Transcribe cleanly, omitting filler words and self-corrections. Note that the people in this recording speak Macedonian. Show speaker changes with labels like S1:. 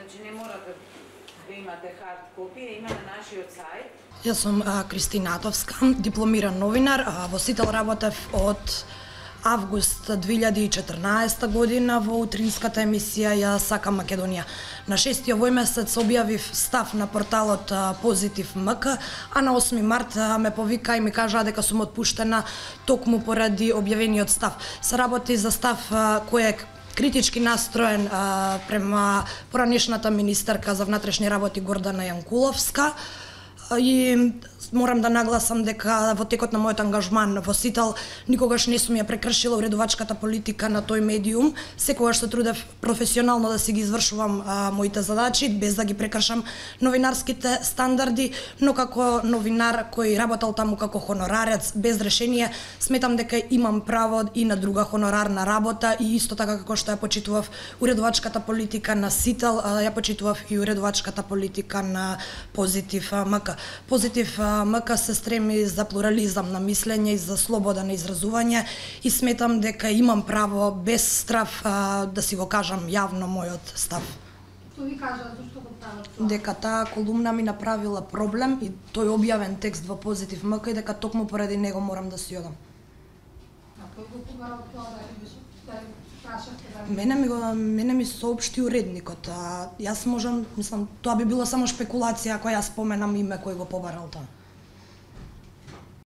S1: значи не морате да имате хард копија, има на нашиот сајт.
S2: Јас сум Кристина Атовска, дипломиран новинар, во Сител работев од август 2014 година во утринската емисија Ја сакам Македонија. На 6 овој месец објавив став на порталот Позитив МК, а на 8 март ме повика и ми кажа дека сум отпуштена токму поради објавениот став. Се работи за став кој е критички настроен према поранешната министерка за внатрешни работи Гордана Јанкуловска. И морам да нагласам дека во текот на мојот ангажман во Сител никогаш не сум ја прекршила уредувачката политика на тој медиум. Секогаш се трудев професионално да си ги извршувам моите задачи, без да ги прекршам новинарските стандарди, но како новинар кој работел таму како хонорарец без решение, сметам дека имам право и на друга хонорарна работа и исто така како што ја почитував уредувачката политика на Сител, ја почитував и уредувачката политика на Позитив МК. Позитив МК се стреми за плурализам на мислење и за слобода на изразување и сметам дека имам право без страв да си го кажам јавно мојот став.
S3: Што ви кажа, зашто го прават?
S2: Дека таа колумна ми направила проблем и тој објавен текст во Позитив МК и дека токму поради него морам да си одам.
S3: А кој го побарал тоа да ви прашавте?
S2: Мене ми соопшти уредникот. Јас можам, мислам, тоа би било само шпекулација ако јас споменам име кој го побарал тоа.